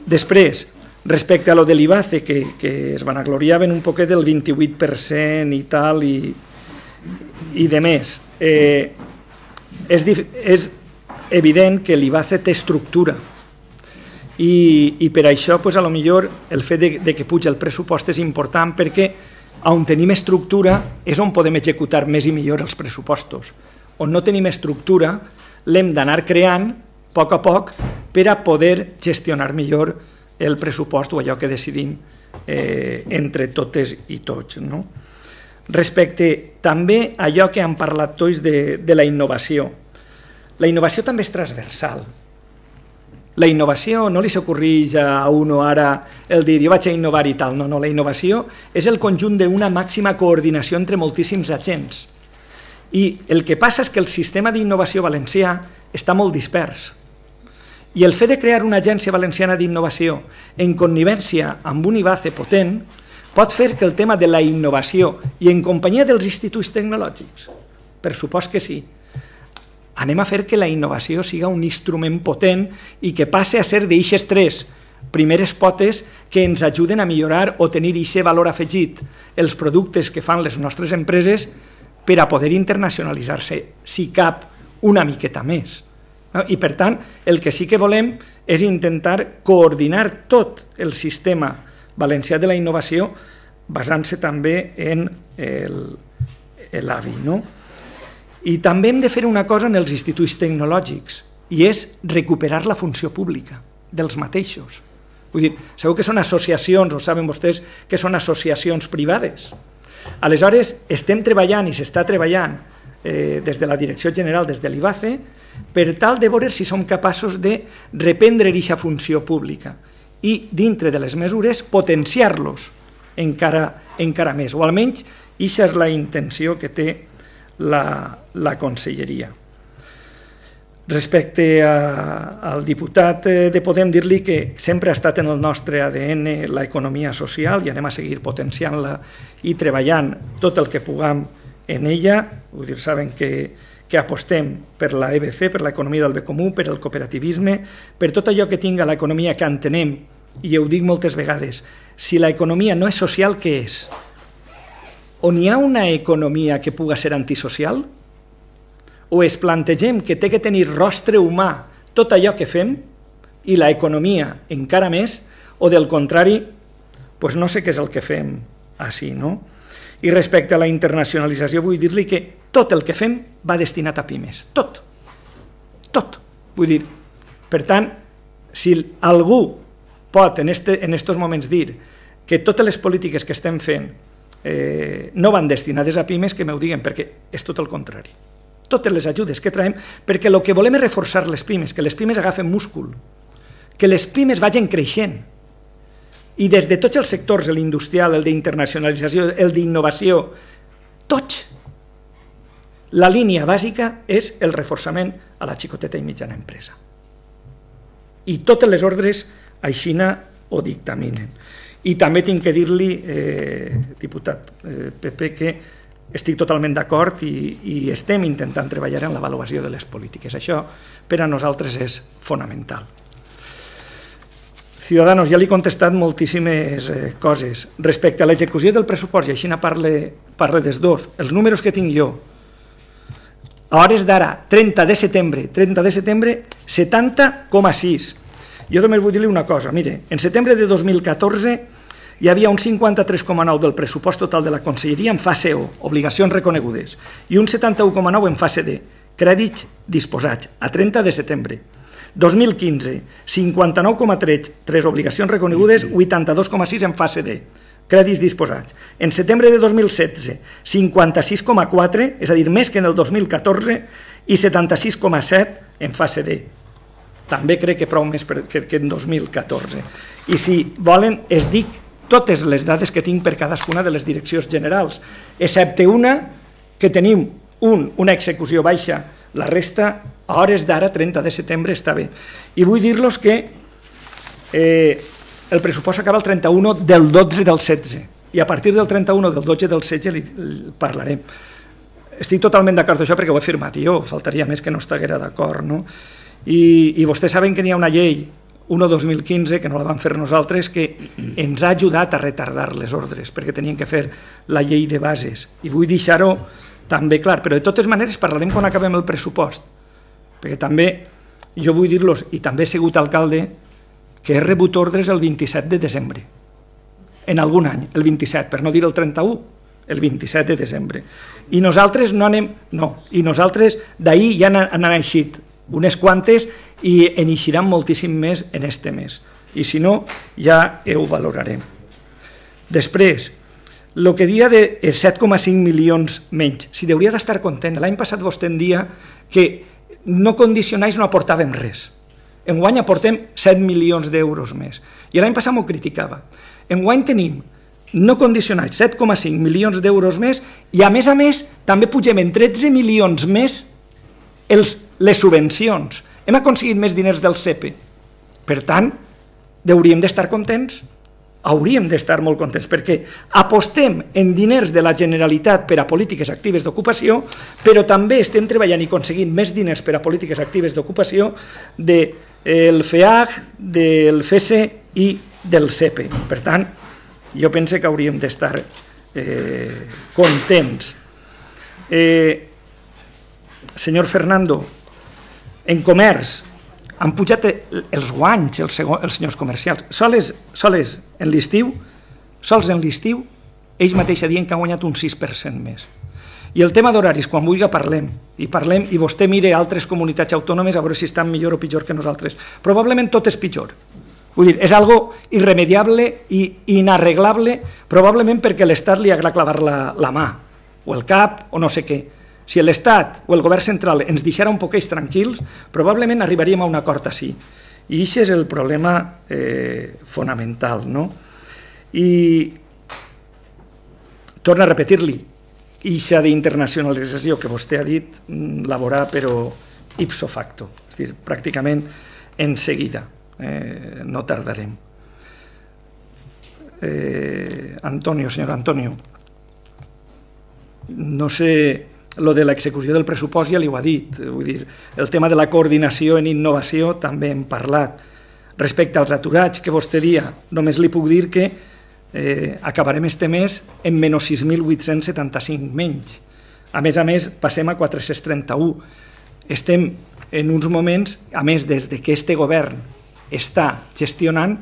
Speaker 1: Després, respecte a lo de l'IBACE, que, que es vanagloriaven un poquet del vint-i-vuit per cent i tal, i, i de més, eh, és, és evident que l'IBACE té estructura i, i per això pues, a lo millor el fet de, de que puja el pressupost és important, perquè on tenim estructura és on podem executar més i millor els pressupostos. On no tenim estructura l'hem d'anar creant a poc a poc per a poder gestionar millor el pressupost o allò que decidim eh, entre totes i tots, no? Respecte també a allò que han parlat tots de, de la innovació. La innovació també és transversal. La innovació no li s'ocorreix a uno ara el dir jo vaig a innovar i tal, no, no, la innovació és el conjunt d'una màxima coordinació entre moltíssims agents. I el que passa és que el sistema d'innovació valencià està molt dispers. I el fet de crear una agència valenciana d'innovació en connivència amb un IBACE potent pot fer que el tema de la innovació i en companyia dels instituts tecnològics, per supost que sí, anem a fer que la innovació siga un instrument potent i que passe a ser d'eixes tres primeres potes que ens ajuden a millorar o tenir aquest valor afegit els productes que fan les nostres empreses per a poder internacionalitzar-se, si cap, una miqueta més. I per tant, el que sí que volem és intentar coordinar tot el sistema valencià de la innovació basant-se també en l'A V I, no? I també hem de fer una cosa en els instituts tecnològics, i és recuperar la funció pública dels mateixos. Vull dir, sabeu que són associacions, o saben vostès que són associacions privades. Aleshores, estem treballant i s'està treballant eh, des de la Direcció General, des de l'IBACE, per tal de veure si som capaços de reprendre aquesta funció pública i, dintre de les mesures, potenciar-los encara, encara més, o almenys aquesta és la intenció que té la, la Conselleria. Respecte a, al diputat de Podem, dir-li que sempre ha estat en el nostre A D N l'economia social i anem a seguir potenciant-la i treballant tot el que puguem en ella. Vull dir, saben que que apostem per la E B C, per l'economia del bé comú, per el cooperativisme, per tot allò que tinga l'economia que entenem, i ho dic moltes vegades, si l'economia no és social, què és? On hi ha una economia que puga ser antisocial? O es plantegem que té que tenir rostre humà tot allò que fem, i l'economia encara més, o del contrari, doncs no sé què és el que fem així, no? I respecte a la internacionalització vull dir-li que tot el que fem va destinat a pimes, tot, tot. Vull dir, per tant, si algú pot en aquests moments dir que totes les polítiques que estem fent eh, no van destinades a pimes, que m'ho diguen, perquè és tot el contrari. Totes les ajudes que traiem, perquè el que volem és reforçar les pimes, que les pimes agafen múscul, que les pimes vagin creixent. I des de tots els sectors, l'industrial, el d'internacionalització, el d'innovació, tots, la línia bàsica és el reforçament a la xicoteta i mitjana empresa. I totes les ordres així ho dictaminen. I també tinc que dir-li, eh, diputat eh, Pepe, que estic totalment d'acord i, i estem intentant treballar en l'avaluació de les polítiques. Això per a nosaltres és fonamental. Ciudadanos, ja li he contestat moltíssimes eh, coses. Respecte a l'execució del pressupost, i així parle, parle dels dos, els números que tinc jo, a hores d'ara, trenta de setembre, trenta de setembre, setanta coma sis. Jo només vull dir-li una cosa, mire, en setembre de dos mil catorze hi havia un cinquanta-tres coma nou del pressupost total de la Conselleria en fase O, obligacions reconegudes, i un setanta-u coma nou en fase D, crèdits disposats, a trenta de setembre. dos mil quinze, cinquanta-nou coma tres, tres obligacions reconegudes, vuitanta-dos coma sis en fase D, crèdits disposats. En setembre de dos mil setze, cinquanta-sis coma quatre, és a dir, més que en el dos mil catorze, i setanta-sis coma set en fase D. També crec que prou més que en dos mil catorze. I si volen, es dic totes les dades que tinc per cadascuna de les direccions generals, excepte una que tenim un, una execució baixa, La resta, a hores d'ara, trenta de setembre, està bé. I vull dir-los que el pressupost acaba el trenta-u del dotze del setze, i a partir del trenta-u del dotze del setze li parlarem. Estic totalment d'acord amb això perquè ho he firmat jo, faltaria més que no estiguera d'acord, no? I vostès saben que n'hi ha una llei, un dos mil quinze, que no la vam fer nosaltres, que ens ha ajudat a retardar les ordres, perquè tenien que fer la llei de bases. I vull deixar-ho també clar, però de totes maneres parlarem quan acabem el pressupost, perquè també, jo vull dir-los, i també he sigut alcalde, que he rebut ordres el vint-i-set de desembre, en algun any, el vint-i-set, per no dir el trenta-u, el vint-i-set de desembre. I nosaltres no anem, no, i nosaltres d'ahir ja n'han eixit unes quantes i en eixiran moltíssim més en este mes. I si no, ja ho valorarem. Després, el que dia de set coma cinc milions menys, si hauria d'estar content, l'any passat vostè en dia que no condicionais no aportàvem res. Enguany aportem set milions d'euros més. I l'any passat m'ho criticava. Enguany tenim no condicionats set coma cinc milions d'euros més i a més a més també pugem en tretze milions més les subvencions. Hem aconseguit més diners del C E P E. Per tant, hauríem d'estar contents? Hauríem d'estar molt contents perquè apostem en diners de la Generalitat per a polítiques actives d'ocupació, però també estem treballant i aconseguint més diners per a polítiques actives d'ocupació del F E A G, del F E S E i del C E P E. Per tant, jo penso que hauríem d'estar contents. Senyor Fernando, en comerç han pujat els guanys els senyors comercials. Sols en l'estiu, sols en l'estiu, ells mateixos diuen que han guanyat un sis per cent més. I el tema d'horaris, quan vulgui parlem, i parlem, i vostè mire altres comunitats autònomes a veure si estan millor o pitjor que nosaltres. Probablement tot és pitjor. Vull dir, és algo irremediable i inarreglable, probablement perquè l'Estat li agrada clavar la mà, o el cap, o no sé què. Si l'Estat o el govern central ens deixara un poquets tranquils, probablement arribaríem a un acord així. I aquest és el problema fonamental. I torno a repetir-li, aquesta d'internacionalització que vostè ha dit, la veurà però ipso facto, és a dir, pràcticament en seguida, no tardarem. Antonio, senyor Antonio, no sé... Lo de l'execució del pressupost ja li ho ha dit, vull dir, el tema de la coordinació en innovació també hem parlat. Respecte als aturats que vostè dia, només li puc dir que acabarem este mes en menys sis mil vuit-cents setanta-cinc menys. A més a més, passem a quatre-cents trenta-u. Estem en uns moments, a més, des que este govern està gestionant,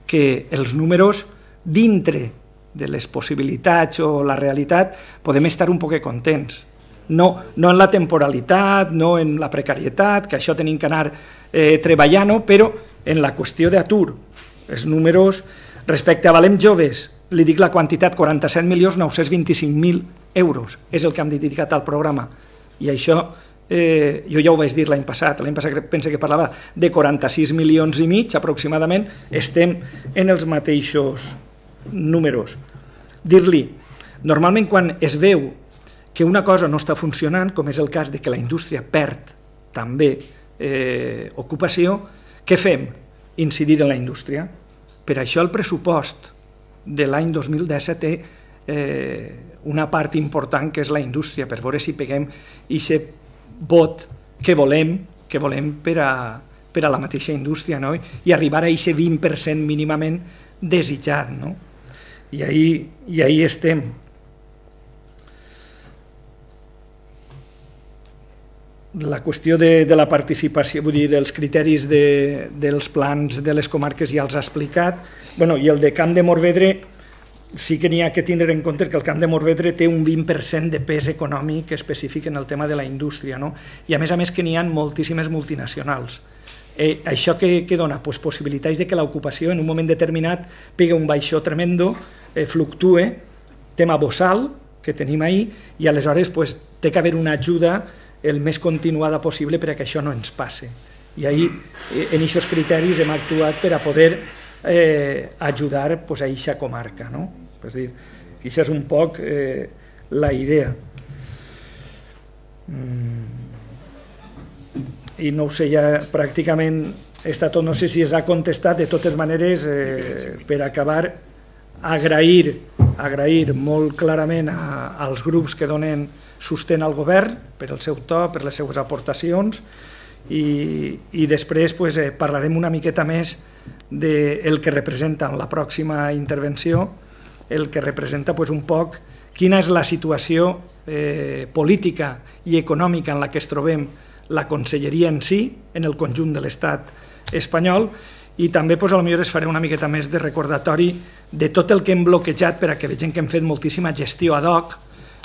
Speaker 1: que els números dintre de les possibilitats o la realitat podem estar un poc contents. No en la temporalitat, no en la precarietat, que això tenim que anar treballant-ho, però en la qüestió d'atur. Els números, respecte a Valem Joves, li dic la quantitat, quaranta-set milions nou-cents vint-i-cinc mil euros, és el que hem dedicat al programa. I això, jo ja ho vaig dir l'any passat, l'any passat penso que parlava de quaranta-sis milions i mig, aproximadament, estem en els mateixos números. Dir-li, normalment quan es veu que una cosa no està funcionant, com és el cas de que la indústria perd també ocupació, què fem? Incidir en la indústria. Per això el pressupost de l'any dos mil disset té una part important que és la indústria, per veure si peguem aquest vot que volem que volem per a la mateixa indústria i arribar a aquest vint per cent mínimament desitjat. I ahí estem. La qüestió de la participació, vull dir, els criteris dels plans de les comarques ja els ha explicat, i el de Camp de Morvedre sí que n'hi ha que tindre en compte que el Camp de Morvedre té un vint per cent de pes econòmic específic en el tema de la indústria, i a més a més que n'hi ha moltíssimes multinacionals. Això què dona? Possibilitats que l'ocupació en un moment determinat pega un baixó tremendo, fluctue, tema bossal que tenim ahir, i aleshores té que haver una ajuda el més continuada possible perquè això no ens passe. I ahir, en aquests criteris, hem actuat per a poder ajudar a aquesta comarca. És a dir, que això és un poc la idea. i no ho sé, ja pràcticament està tot, no sé si es ha contestat, de totes maneres, eh, per acabar, agrair, agrair molt clarament a, als grups que donen sostén al govern per el seu to, per les seues aportacions, i, i després pues, eh, parlarem una miqueta més del que representa en la pròxima intervenció, el que representa pues, un poc quina és la situació eh, política i econòmica en la que es trobem la conselleria en si, en el conjunt de l'estat espanyol, i també pues, potser es faré una miqueta més de recordatori de tot el que hem bloquejat per a que vegem que hem fet moltíssima gestió ad hoc,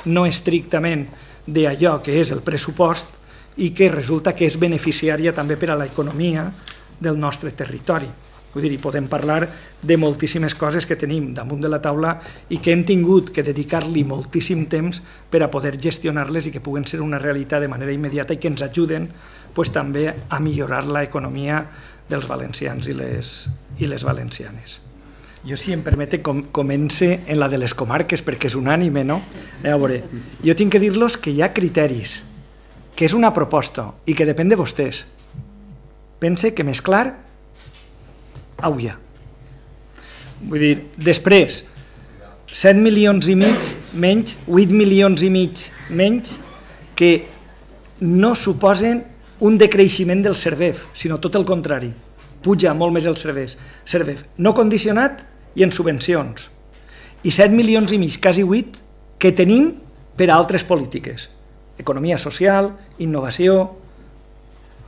Speaker 1: no estrictament d'allò que és el pressupost i que resulta que és beneficiària també per a l'economia del nostre territori. Vull dir, podem parlar de moltíssimes coses que tenim damunt de la taula i que hem tingut que dedicar-li moltíssim temps per a poder gestionar-les i que puguen ser una realitat de manera immediata i que ens ajuden pues, també a millorar l'economia dels valencians i les, i les valencianes. Jo, si em permete, com, comence en la de les comarques, perquè és unànime, no? A veure, jo tinc que dir-los que hi ha criteris, que és una proposta i que depèn de vostès. Pense que més clar, auia. Vull dir, després, set milions i mig menys, vuit milions i mig menys, que no suposen un decreixement del CERVEF, sinó tot el contrari. Puja molt més el CERVEF, no condicionat i en subvencions. I set milions i mig, quasi vuit, que tenim per a altres polítiques. Economia social, innovació,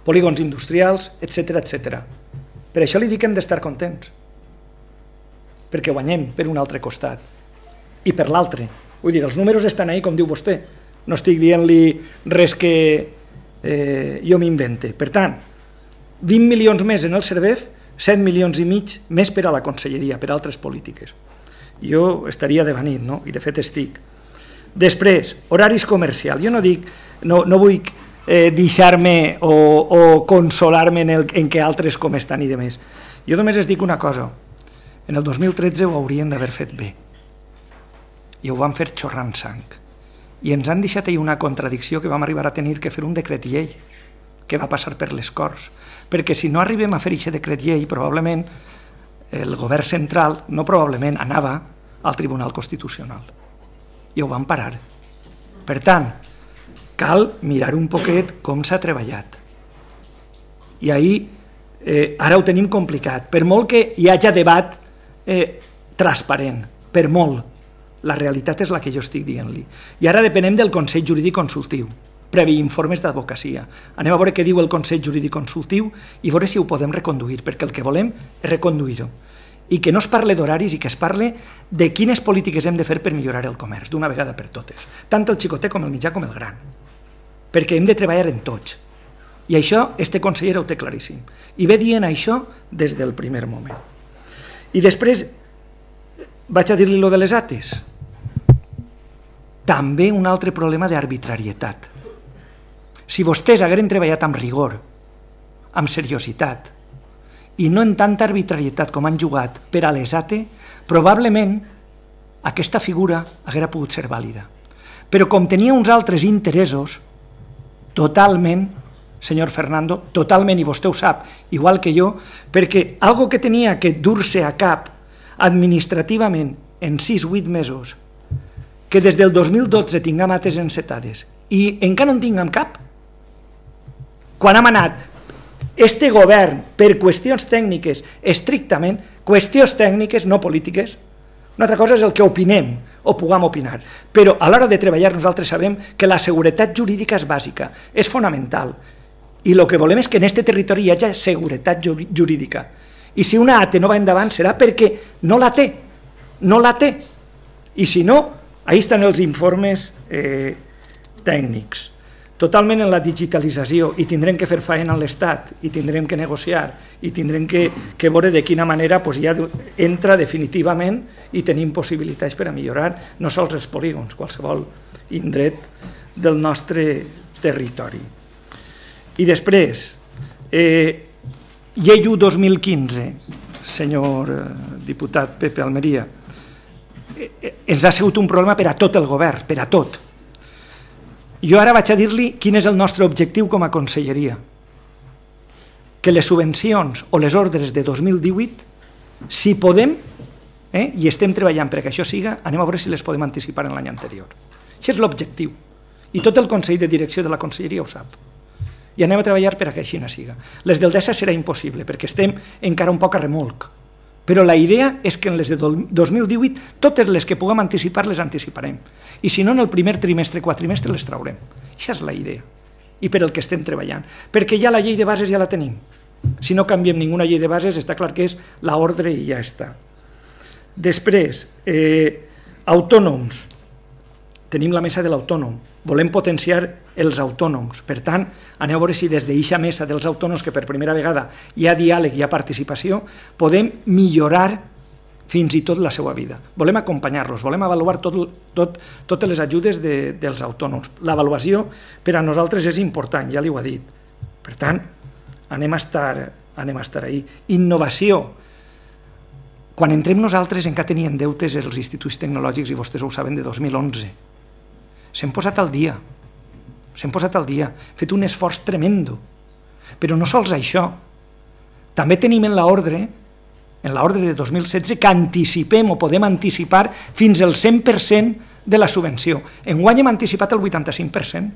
Speaker 1: polígons industrials, etcètera, etcètera. Per això li dic que hem d'estar contents, perquè guanyem per un altre costat i per l'altre. Vull dir, els números estan ahí, com diu vostè. No estic dient-li res que eh, jo m'invente. Per tant, vint milions més en el CERVEF, set milions i mig més per a la conselleria, per a altres polítiques. Jo estaria devenint, no? I de fet estic. Després, horaris comercials. Jo no dic, no, no vull eh, deixar-me o, o consolar-me en, el, en què altres com estan i demés. Jo només es dic una cosa. En el dos mil tretze ho haurien d'haver fet bé. I ho van fer xorrant sang. I ens han deixat ahir una contradicció que vam arribar a tenir que fer un decret llei que va passar per les Corts. Perquè si no arribem a fer aquest decret llei, probablement el govern central, no probablement, anava al Tribunal Constitucional. I ho van parar. Per tant, cal mirar un poquet com s'ha treballat. I ahir, eh, ara ho tenim complicat. Per molt que hi hagi debat eh, transparent, per molt, la realitat és la que jo estic dient-li. I ara depenem del Consell Jurídic Consultiu, previ informes d'advocacia. Anem a veure què diu el Consell Jurídic Consultiu i veure si ho podem reconduir, perquè el que volem és reconduir-ho. I que no es parle d'horaris i que es parle de quines polítiques hem de fer per millorar el comerç, d'una vegada per totes. Tant el xicotet com el mitjà com el gran. Perquè hem de treballar en tots. I això, este conseller ho té claríssim. I ve dient això des del primer moment. I després, vaig a dir-li lo de les ates. També un altre problema d'arbitrarietat. Si vostès hagueren treballat amb rigor, amb seriositat, i no en tanta arbitrarietat com han jugat per a les A T E, probablement aquesta figura haguera pogut ser vàlida. Però com tenia uns altres interessos, totalment, senyor Fernando, totalment, i vostè ho sap, igual que jo, perquè algo que tenia que dur-se a cap administrativament en sis o vuit mesos, que des del dos mil dotze tinguem ates encetades i encara no en tinguem cap, quan hem anat este govern per qüestions tècniques, estrictament, qüestions tècniques, no polítiques, una altra cosa és el que opinem o puguem opinar, però a l'hora de treballar nosaltres sabem que la seguretat jurídica és bàsica, és fonamental, i el que volem és que en aquest territori hi hagi seguretat jurídica, i si una A T E no va endavant serà perquè no la té, no la té, i si no, ahí estan els informes eh, tècnics. Totalment en la digitalització, i tindrem que fer feina a l'Estat, i tindrem que negociar, i tindrem que, que veure de quina manera pues, ja entra definitivament i tenim possibilitats per a millorar no sols els polígons, qualsevol indret del nostre territori. I després, eh, llei u dos mil quinze, senyor eh, diputat Pepe Almeria, eh, ens ha sigut un problema per a tot el govern, per a tot. Jo ara vaig a dir-li quin és el nostre objectiu com a conselleria. que les subvencions o les ordres de dos mil divuit, si podem, eh, i estem treballant perquè això siga, anem a veure si les podem anticipar en l'any anterior. Això és l'objectiu. I tot el Consell de Direcció de la Conselleria ho sap. I anem a treballar perquè així no siga. Les del DESA serà impossible, perquè estem encara un poc a remolc. Però la idea és que en les de dos mil divuit, totes les que puguem anticipar, les anticiparem. I si no, en el primer trimestre, quatrimestre, les traurem. Això és la idea. I per el que estem treballant. Perquè ja la llei de bases ja la tenim. Si no canviem ninguna llei de bases, està clar que és l'ordre i ja està. Després, eh, autònoms. Tenim la mesa de l'autònom. Volem potenciar els autònoms. Per tant, anem a veure si des d'eixa mesa dels autònoms, que per primera vegada hi ha diàleg, hi ha participació, podem millorar fins i tot la seva vida. Volem acompanyar-los, volem avaluar tot, tot, totes les ajudes de, dels autònoms. L'avaluació per a nosaltres és important, ja li ho ha dit. Per tant, anem a estar, anem a estar ahí. Innovació. Quan entrem nosaltres encara tenien deutes els instituts tecnològics, i vostès ho saben, de dos mil onze. S'hem posat al dia, s'hem posat al dia, hem fet un esforç tremendo. Però no sols això, també tenim en l'ordre, en l'ordre de dos mil setze, que anticipem o podem anticipar fins al cent per cent de la subvenció. Enguany hem anticipat el vuitanta-cinc per cent.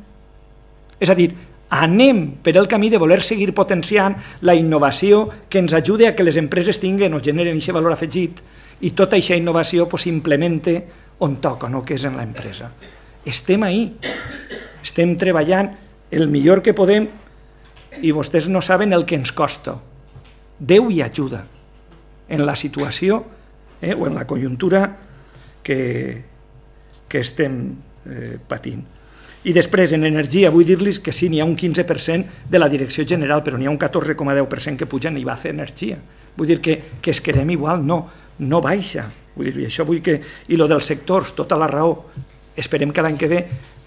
Speaker 1: És a dir, anem per el camí de voler seguir potenciant la innovació que ens ajude a que les empreses tinguin o generen aquest valor afegit i tota aquesta innovació s'implemente on toca, no? Que és en l'empresa. Estem ahí, estem treballant el millor que podem i vostès no saben el que ens costa. Déu hi ajuda en la situació eh, o en la conjuntura que, que estem eh, patint. I després, en energia, vull dir-los que sí, n'hi ha un quinze per cent de la direcció general, però n'hi ha un catorze coma deu per cent que puja en I B A C Energia. Vull dir que, que es quedem igual, no, no baixa. Vull dir, i això vull que... I lo dels sectors, tota la raó, esperem que l'any que ve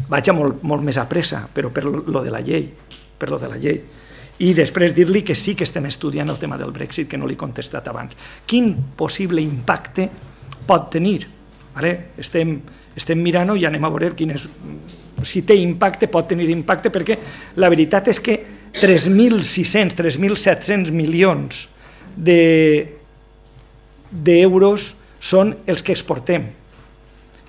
Speaker 1: vagi molt, molt més a pressa, però per lo de la llei, per lo de la llei. I després dir-li que sí que estem estudiant el tema del Brexit, que no l'he contestat abans. Quin possible impacte pot tenir? Ara estem, estem mirant-ho i anem a veure quin és, si té impacte, pot tenir impacte, perquè la veritat és que tres mil sis-cents, tres mil set-cents milions d'euros són els que exportem.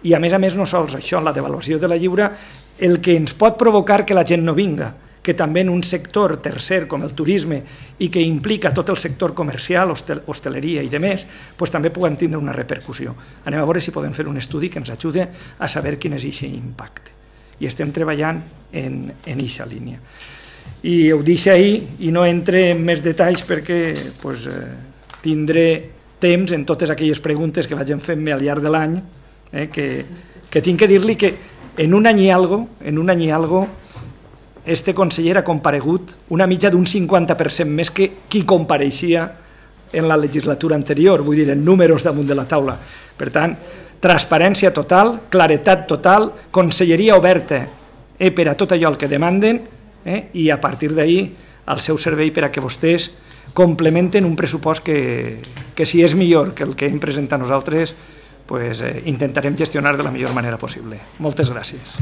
Speaker 1: I a més a més no sols això, la devaluació de la lliura, el que ens pot provocar que la gent no vinga, que també en un sector tercer com el turisme i que implica tot el sector comercial, hosteleria i demés, doncs també puguem tindre una repercussió. Anem a veure si podem fer un estudi que ens ajude a saber quin és aquest impacte. I estem treballant en aquesta línia. I ho deixo ahir i no entre en més detalls perquè doncs, eh, tindré temps en totes aquelles preguntes que vagin fent-me al llarg de l'any, eh, que, que tinc que dir-li que en un any i algo, en un any i algo, este conseller ha comparegut una mitja d'un cinquanta per cent més que qui compareixia en la legislatura anterior, vull dir, en números damunt de la taula. Per tant, transparència total, claretat total, conselleria oberta eh, per a tot allò el que demanden eh, i a partir d'ahir al seu servei per a que vostès complementen un pressupost que, que si és millor que el que hem presentat nosaltres, pues, eh, intentarem gestionar de la millor manera possible. Moltes gràcies.